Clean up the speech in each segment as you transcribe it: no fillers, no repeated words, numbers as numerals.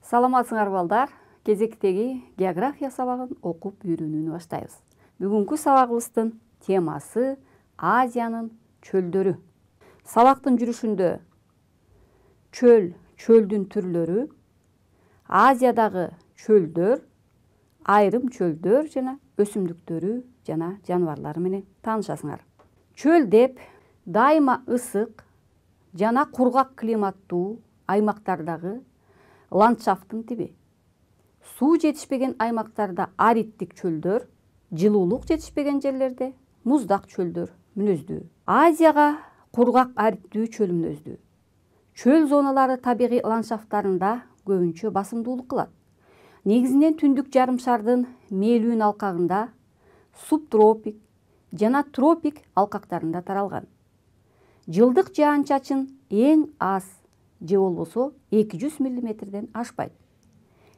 Саламатсыңар балдар. Кезектеги география сабагын окуп үйрөнүүнү баштайбыз. Бүгүнкү сабагыбыздын темасы Азиянын чөлдөрү. Сабактын жүрүшүндө чөл, чөлдүн түрлөрү, Азиядагы чөлдөр, айрым чөлдөр жана өсүмдүктөрү жана жаныбарлары менен таанышасыңар. Чөл деп дайыма ысык жана кургак климаттуу аймактардагы ландшафттын тиби. Суу жетишпеген аймактарда аридтик чөлдөр, жылуулук жетишпеген жерлерде муздак чөлдөр мүнөздүү. Азияга кургак аридтүү чөл мүнөздүү. Чөл зоналары табигый ландшафттарында көбүнчө басымдуулук кылат. Негизинен түндүк жарым шардын мээлүүн алкагында, субтропик жана тропик алкактарында таралган. Жылдык жаан-чачын эң аз же болбосо 200 мм ашпайт.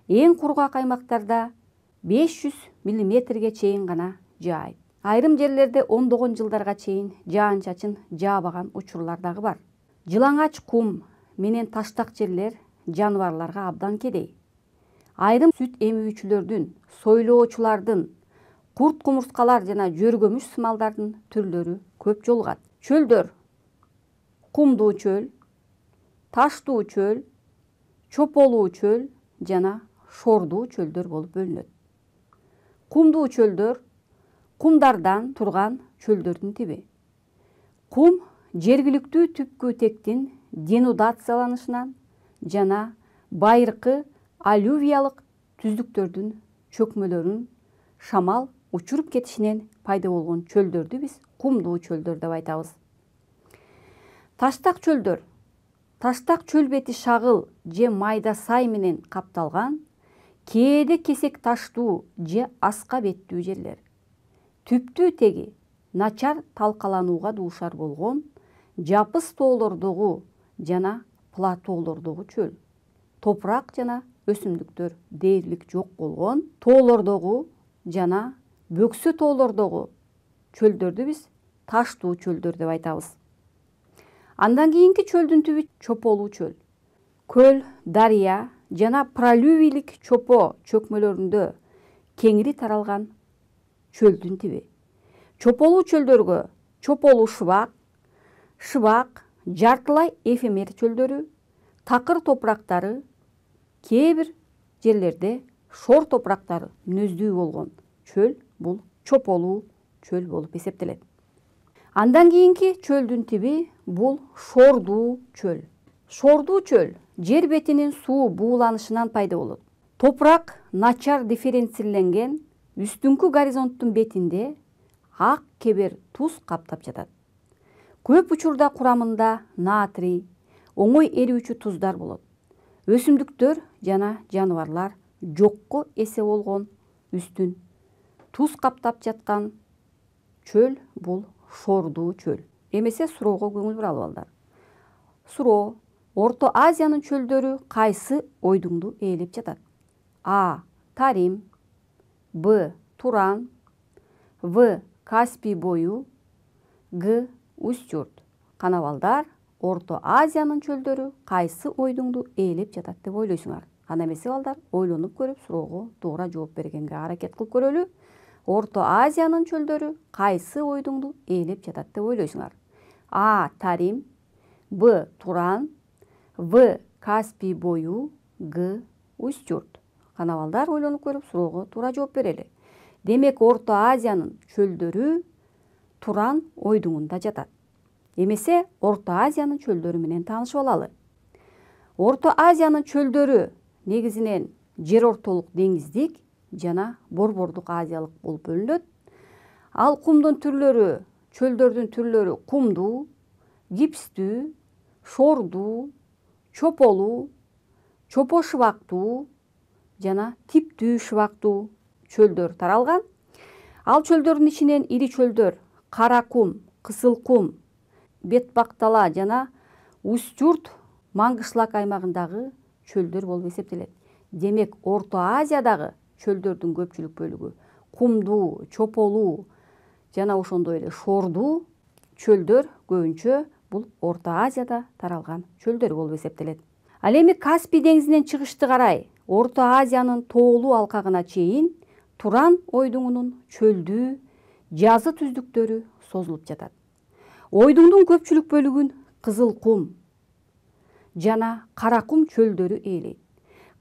Эң кургак аймактарда 500 мм чейин гана жаайт. Айрым жерлерде ондогон жылдарга чейин жаан-чачын жаабаган учурлар дагы бар. Жылаңач кум менен таштак жерлер жаныбарларга абдан кедей. Айрым сүт эмүүчүлөрдүн, сойлоочулардын, курт-кумурскалар жана жөргөмүш сымалдардын түрлөрү көп жолугат. Чөлдөр кумдуу чөл, таштуу чөл, чополуу чөл жана шордуу чөлдөр болуп бөлүнөт. Кумдуу чөлдөр кумдардан турган чөлдөрдүн тиби. Кум жергиликтүү түпкү тектин денудацияланышынан жана байыркы аллювиялык түздүктөрдүн чөкмөлөрүн шамал учуруп кетишинен пайда болгон чөлдөрдү биз кумдуу чөлдөр деп айтабыз. Таштак чөлдөр. Таштак чөл бети шагыл же майда сай менен капталган, кээде кесек таштуу же аска беттүү жерлер. Түптүү теги начар талкаланууга дуушар болгон жапыс тоолордогу жана платоолордогу чөл. Топурак жана өсүмдүктөр дээрлик жок болгон тоолордогу жана бөксө тоолордогу чөлдөрдү биз таштуу чөлдөр деп айтабыз. Андан кийинки чөлдүн түбү чополуу чөл. Көл, дарыя жана пролювийлик чопо чөкмөлөрүндө кеңири таралган чөлдүн тиби. Чополуу чөлдөргө чополуу шыбак, шыбак, жартылай эфемер чөлдөрү, такыр топурактары, кээ бир жерлерде шор топурактары мүнөздүү болгон чөл бул чополуу чөл болуп эсептелет. Андан кийинки чөлдүн тиби бул шордуу чөл. Шордуу чөл жер бетинин суу бууланышынан пайда болот. Топурак начар дифференцирленген, үстүңкү горизонттун бетинде ак кебер туз каптап жатат. Көп учурда курамында натрий, оңой эрүүчү туздар болот. Өсүмдүктөр жана жаныбарлар жокко эсе болгон үстүн туз каптап жаткан чөл бул шордуу чөл. Эмесе суроого көңүл буралы балдар. Суроо: Орто Азиянын чөлдөрү кайсы ойдуңду ээлеп жатат? А. Тарим, Б. Туран, В. Каспий бою, Г. Устюрт. Кана балдар, Орто Азиянын чөлдөрү кайсы ойдуңду ээлеп жатат деп ойлойсуңар? Ана эмесе балдар, ойлонуп көрүп суроого туура жооп бергенге аракет кылып көрөлү. Орто Азиянын чөлдөрү кайсы ойдуңду ээлеп жатат деп ойлойсуңар? А. Тарим, Б. Туран, В. Каспий бою, Г. Устюрт. Кана балдар, ойлонуп көрүп суроого туура жооп берели. Демек, Орто Азиянын чөлдөрү Туран ойдуңунда жатат. Эмесе Орто Азиянын чөлдөрү менен таанышып алалы. Орто Азиянын чөлдөрү негизинен жер ортолук деңиздик жана борбордук азиялык болуп бөлүнөт. Ал кумдун түрлөрү, чөлдөрдүн түрлөрү кумдуу, гипстүү, шордуу, чополуу, чопо шыбактуу жана типтүү шыбактуу чөлдөр таралган. Ал чөлдөрдүн ичинен ири чөлдөр Кара кум, Кызыл кум, Бетбактала жана Устюрт маңгышлак аймагындагы чөлдөр болуп эсептелет. Демек, Орто Азиядагы чөлдөрдүн көпчүлүк бөлүгү кумдуу, чополуу жана ошондой эле шордуу чөлдөр көбүнчө бул Орто Азияда таралган чөлдөр болуп эсептелет. Ал эми Каспий деңизинен чыгышты карай Орто Азиянын тоолуу алкагына чейин Туран ойдуңунун чөлдүү, жазы түздүктөрү созулуп жатат. Ойдуңдун көпчүлүк бөлүгүн Кызыл кум жана Кара кум чөлдөрү ээлейт.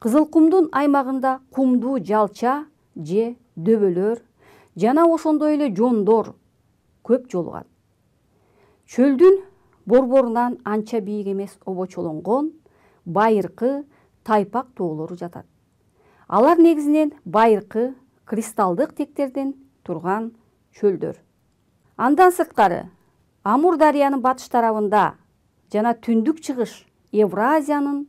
Кызыл кумдун аймагында кумдуу жалча же дөбөлөр жана ошондой эле жондор көп жолугат. Чөлдүн борборунан анча бийик эмес обочолонгон байыркы тайпак тоолору жатат. Алар негизинен байыркы кристалдык тектерден турган чөлдөр. Андан сырткары Амур дарыянын батыш тарабында жана түндүк чыгыш Евразиянын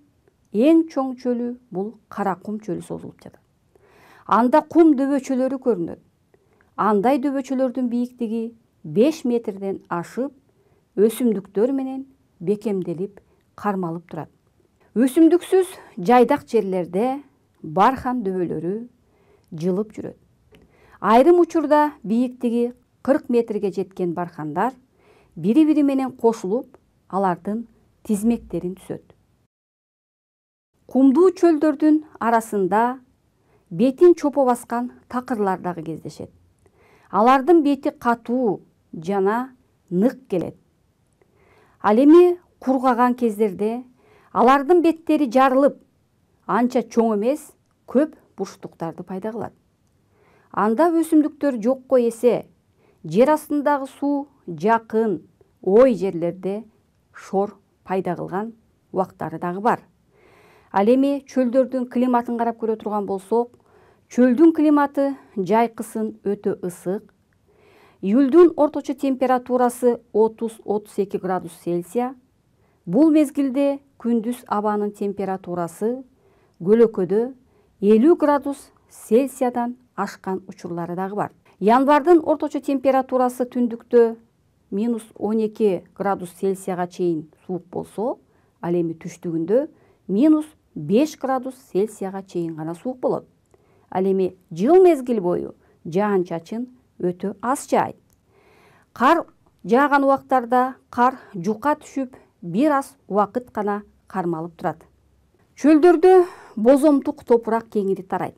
эң чоң чөлү бул Кара кум чөлү созулуп жатат. Анда кум дөбөчөлөрү көрүнөт. Андай дөбөчөлөрдүн бийиктиги 5 метрден ашып, өсүмдүктөр менен бекемделип кармалып турат. Өсүмдүксүз жайдак жерлерде бархан дөбөлөрү жылып жүрөт. Айрым учурда бийиктиги 40 метрге жеткен бархандар бири-бири менен кошулуп, алардын тизмектерин түзөт. Кумдуу чөлдөрдүн арасында бетин чопо баскан такырлар дагы кездешет. Алардын бети катуу жана нык келет. Ал эми кургаган кездерде алардын беттери жарылып, анча чоң эмес, көп бурчтуктарды пайда кылат. Анда өсүмдүктөр жокко эсе, жер астындагы суу жакын, ой жерлерде шор пайда кылган убактары дагы бар. Ал эми чөлдөрдүн климатын карап көрө турган болсок, чөлдүн климаты жайкысын өтө ысык. Июлдун орточо температурасы 30-32 градус Цельсия. Бул мезгилде күндүз абанын температурасы көлөкөдө 50 градус Цельсиядан ашкан учурлары дагы бар. Январдын орточо температурасы түндүктө -12 градус Цельсияга чейин суук болсо, ал эми түштүгүндө -5 градус Цельсияга чейин гана суук болот. Ал эми жыл мезгил бою жаан-чачын өтө аз жаайт. Кар жааган убактарда кар жука түшүп, бир аз убакыт гана кармалып турат. Чөлдөрдө бозомтук топурак кеңири тарайт.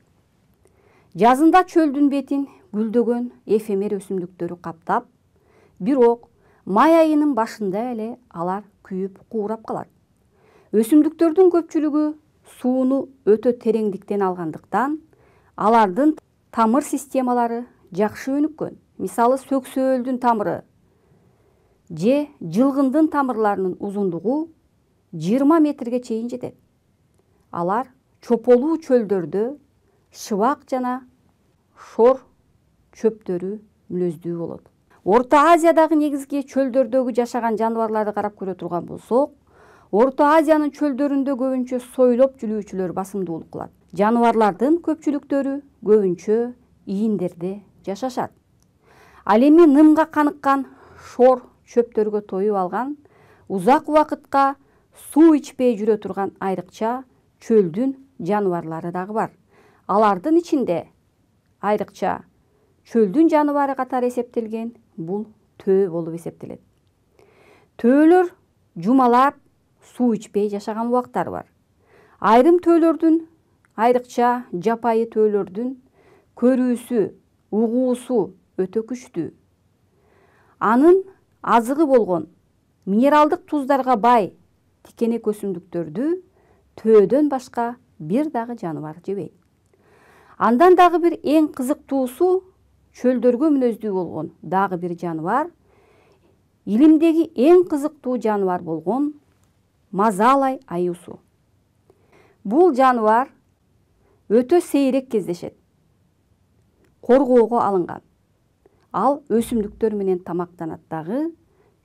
Жазында чөлдүн бетин гүлдөгөн эфемер өсүмдүктөрү каптап, бирок май айынын башында эле алар күйүп куурап калат. Өсүмдүктөрдүн көпчүлүгү сууну өтө тереңдиктен алгандыктан, алардын тамыр системалары жакшы өнүккөн. Мисалы, сөксөөлдүн тамыры же жылгындын тамырларынын узундугу 20 метрге чейин жетет. Алар чополуу чөлдөрдө шыбак жана шор чөптөрү мүлөздүү болот. Орто Азиядагы негизги чөлдөрдөгү жашаган жаныбарларды карап көрө турган болсок, Орто Азиянын чөлдөрүндө көбүнчө сойлоп жүрүүчүлөр басымдуулук кылат. Жаныбарлардын көпчүлүктөрү көбүнчө ийиндерде жашашат. Ал эми нымга каныккан шор чөптөргө тоюп алган, узак убакытка суу ичпей жүрө турган айрыкча чөлдүн жаныбарлары дагы бар. Алардын ичинде айрыкча чөлдүн жаныбары катары эсептелген бул төө болуп эсептелет. Төөлөр жумалап суу ичпей жашаган убактары бар. Айрым төөлөрдүн, айрыкча жапайы төөлөрдүн көрүүсү, угуусу өтө күчтүү. Анын азыгы болгон минералдык туздарга бай тикенек өсүмдүктөрдү төөдөн башка бир дагы жаныбар жебейт. Андан дагы бир эң кызыктуусу, чөлдөргө мүнөздүү болгон дагы бир жаныбар, илимдеги эң кызыктуу жаныбар болгон мазалай аюусу. Бул жаныбар өтө сейрек кездешет. Коргоого алынган. Ал өсүмдүктөр менен тамактанат дагы,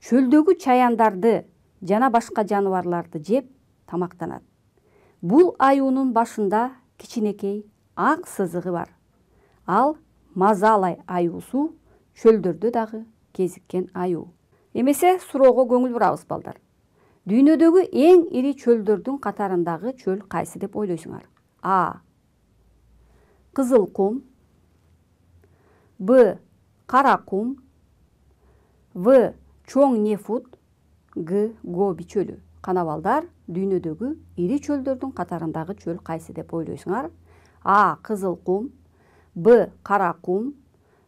чөлдөгү чаяндарды жана башка жаныбарларды жеп тамактанат. Бул аюунун башында кичинекей ак сызыгы бар. Ал мазалай аюусу чөлдөрдө дагы кезиккен аюу. Эмесе суроого көңүл бурабыз балдар. Дүйнөдөгү эң ири чөлдөрдүн катарындагы чөл кайсы деп ойлойсуңар? А. Кызыл кум. Б. Кара кум. В. Чоң Нефут. Г. Гоби чөлү. канабалдар дүйнөдөгү ири чөлдөрдүн катарындагы чөл кайсы деп ойлойсуңар? А. Кызыл кум, Б. Кара кум,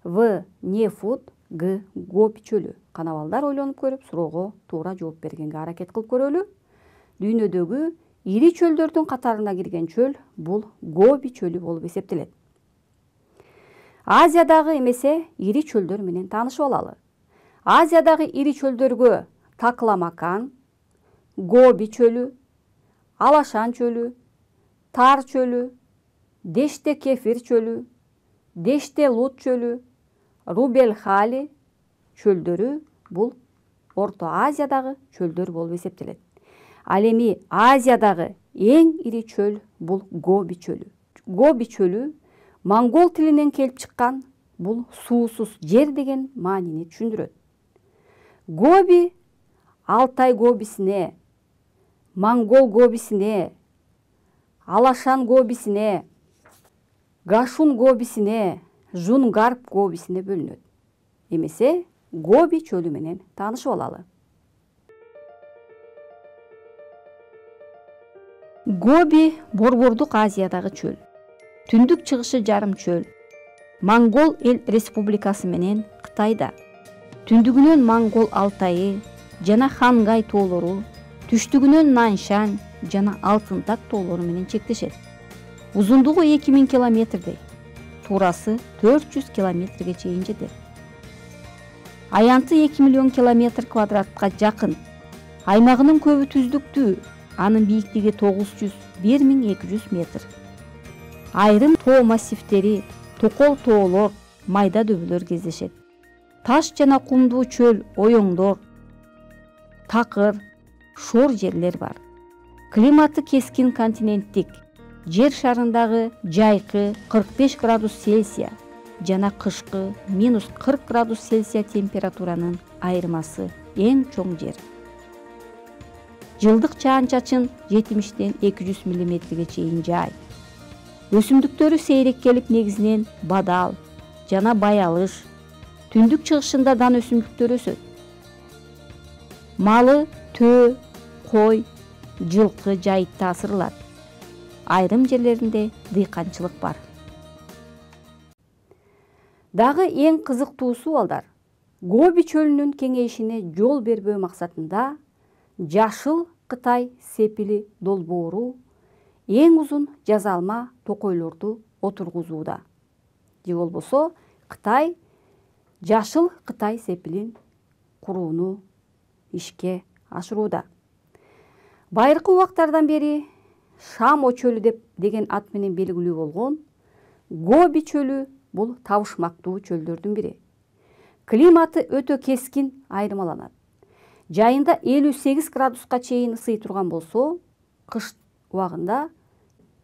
В. Нефут, Г. Гоби чөлү. Канабалдар ойлонуп көрүп, суроого туура жооп бергенге аракет кылып көрөлү. Дүйнөдөгү ири чөлдөрдүн катарына кирген чөл бул Гоби чөлү болуп эсептелет. Азиядагы эмесе ири чөлдөр менен таанышып алалы. Азиядагы ири чөлдөргө Такламакан, Гоби чөлү, Алашан чөлү, Тар чөлү, Деште Кефир чөлү, Деште Лут чөлү, Рубелхали чөлдөрү бул Орто Азиядагы чөлдөр болуп эсептелет. Ал эми Азиядагы эң ири чөл бул Гоби чөлү. Гоби чөлү монгол тилинен келип чыккан, бул суусуз жер деген маанини түшүндүрөт. Гоби Алтай гобисине, Монгол гобисине, Алашан гобисине, Гашун гобисине, Жунгарп гобисине бөлүнөт. Эмесе Гоби чөлү менен таанышып алалы. Гоби Борбордук Азиядагы чөл. Түндүк чыгышы жарым чөл. Монгол эл республикасы менен Кытайда. Түндүгүнөн Монгол Алтайы жана Хангай тоолору, түштүгүнөн Наншань жана Алтынтак тоолору менен чектешет. Узундугу 2000 километрдей, туурасы 400 километрге чейин жетет. Аянты 2 миллион километр квадратка жакын. Аймагынын көбү түздүктүү, анын бийиктиги 900–1200 метр. Айрым тоо массивдери, токол тоолор, майда дөбөлөр кездешет. Таш жана кумдуу чөл, оюңдор, такыр, шор жерлер бар. Климаты кескин континенттик. Жер шарындагы жайкы 45 градус Цельсия жана кышкы -40 градус Цельсия температуранын айырмасы эң чоң жер. Жылдык жаан-чачын 70–200 мм чейин жаайт. Өсүмдүктөрү сейрек келип, негизинен бадал жана баялыш, түндүк чыгышында дан өсүмдүктөр өсөт. Малы төө, кой, жылкы жайытта асырылат. Айрым жерлеринде дыйканчылык бар. Дагы эң кызыктуусу балдар, Гоби чөлүнүн кеңейишине жол бербөө максатында Жашыл Кытай сепили долбоору эң узун жазалма токойлорду отургузууда. Же болбосо Кытай Жашыл Кытай сепилин курууну ишке ашырууда. Байыркы убактардан бери Шамо чөлү деген ат менен белгилүү болгон Гоби чөлү бул табышмактуу чөлдөрдүн бири. Климаты өтө кескин айырмаланат. Жайында 58 градуска чейин ысый турган болсо, кыш убагында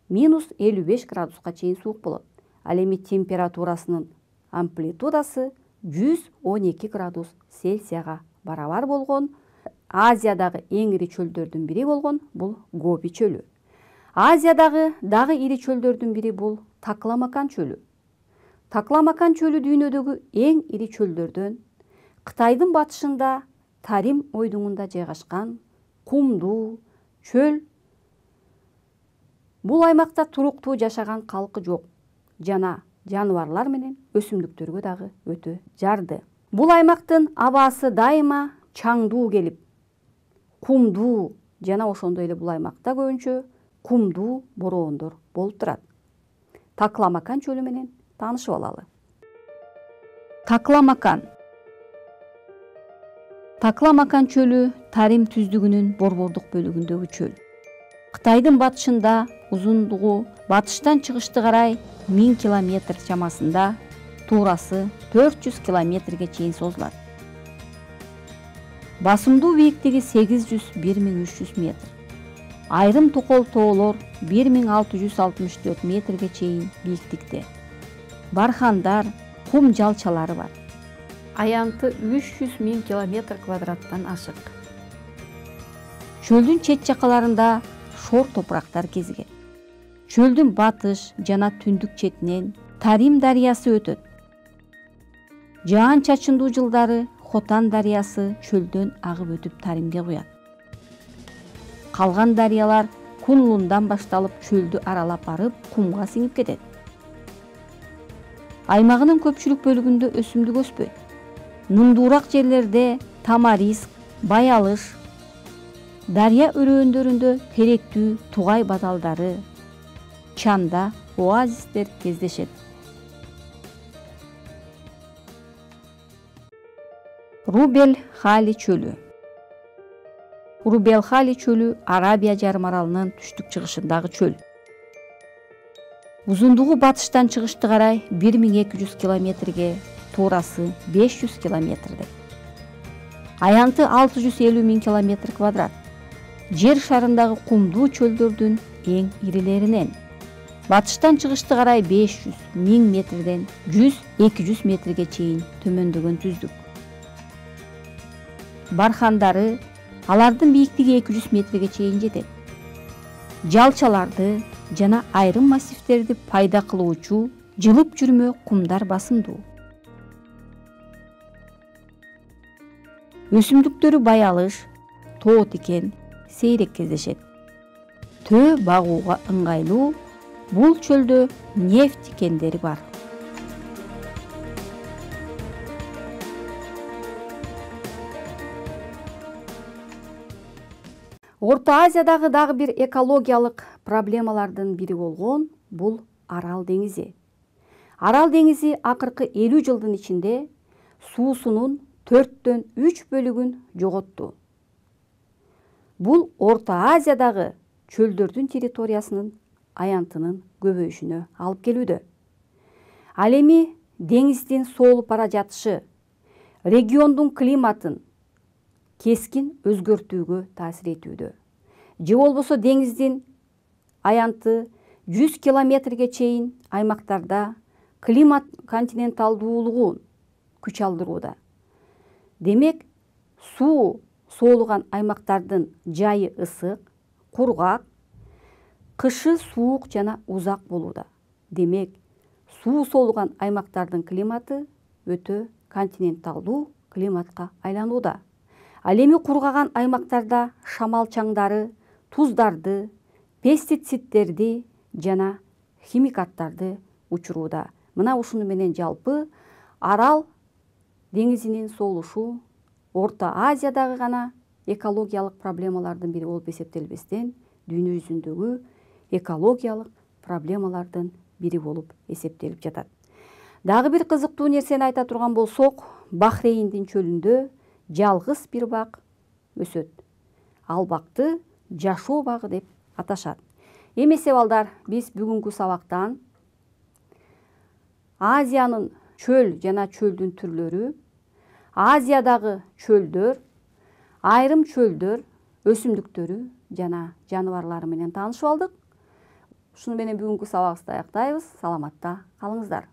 -55 градуска чейин суук болот. Ал эми температурасынын амплитудасы 112 градус Цельсияга барабар болгон Азиядагы эң ири чөлдөрдүн бири болгон бул Гоби чөлү. Азиядагы дагы ири чөлдөрдүн бири бул Такламакан чөлү. Такламакан чөлү дүйнөдөгү эң ири чөлдөрдөн, Кытайдын батышында Тарим ойдуңунда жайгашкан кумдуу чөл. Бул аймакта туруктуу жашаган калкы жок жана жаныбарлар менен өсүмдүктөргө дагы өтө жарды. Бул аймактын абасы дайыма чаңдуу келип, кумдуу жана ошондой эле бул аймакта көбүнчө кумдуу бороондор болуп турат. Такламакан чөлү менен таанышып алалы. Такламакан. Такламакан чөлү Тарим түздүгүнүн борбордук бөлүгүндөгү чөл. Кытайдын батышында, узундугу батыштан чыгышты карай 1000 километр чамасында, туурасы 400 километрге чейин созулат. Басымдуу бийиктиги 800–1300 метр. Айрым токол тоолор 1664 метрге чейин бийиктикте. Бархандар, кум жалчалары бар. Аянты 300 000 километр квадраттан ашык. Чөлдүн чет жакаларында шор топурактар кезиген. Чөлдүн батыш жана түндүк четинен Тарим дарыясы өтөт. Жаан-чачындуу жылдары Хотан дарыясы чөлдөн агып өтүп Таримге куят. Калган дарыялар Кунлундан башталып чөлдү аралап барып кумга сиңип кетет. Аймагынын көпчүлүк бөлүгүндө өсүмдүк өспөйт. Нымдуураак жерлерде тамариск, баялыш, дарыя өрөөндөрүндө теректүү тугай баталдары, чанда оазистер кездешет. Руб-эль-Хали чөлү. Руб-эль-Хали чөлү Арабия жарым аралынын түштүк-чыгышындагы чөл. Узундугу батыштан чыгышты карай 1200 километрге, туурасы 500 километрдей. Аянты 650 000 километр квадрат. Жер шарындагы кумдуу чөлдөрдүн эң ирилеринен. Батыштан чыгышты карай 500 000 метрден 100-200 метрге чейин төмөндөгөн түздүк. Бархандары, алардын бийиктиги 200 метрге чейин жетет. Жалчаларды жана айрым массивдерди пайда кылуучу жылып жүрмө кумдар басымдуу. Өсүмдүктөрү баялыш, тоо тикен сейрек кездешет. Төө багууга ыңгайлуу, бул чөлдө нефть тикендери бар. Орто Азиядагы дагы бир экологиялык проблемалардын бири болгон бул Арал деңизи. Арал деңизи акыркы 50 жылдын ичинде суусунун 4/3 бөлүгүн жоготту. Бул Орто Азиядагы чөлдөрдүн территориясынын аянтынын көбөйүшүнө алып келүүдө. Ал эми деңиздин соолуп бара жатышы региондун климатын кескин өзгөртүүгө таасир этүүдө. Же болбосо деңиздин аянты 100 километрге чейин аймактарда климат континенталдуулугун күч алдырууда. Демек, суу соолуган аймактардын жайы ысык, кургак, кышы суук жана узак болууда. Демек, суу соолуган аймактардын климаты өтө континенталдуу климатка айланууда. Ал эми кургаган аймактарда шамал чаңдары, туздарды, пестицидтерди жана химикаттарды учурууда. Мына ушуну менен жалпы Арал деңизинин соолушу Орто Азиядагы гана экологиялык проблемалардын бири болуп эсептелбестен, дүйнө жүзүндөгү экологиялык проблемалардын бири болуп эсептелип жатат. Дагы бир кызыктуу нерсени айта турган болсок, Бахрейндин чөлүндө жалгыз бир бак өсөт. Ал бакты жашоо багы деп аташат. Эмесе балдар, биз бүгүнкү сабактан Азиянын чөл жана чөлдүн түрлөрү, Азиядагы чөлдөр, айрым чөлдөр, өсүмдүктөрү жана жаныбарлары менен таанышып алдык. Ушуну менен бүгүнкү сабагыбызды аяктайбыз. Саламатта калыңыздар.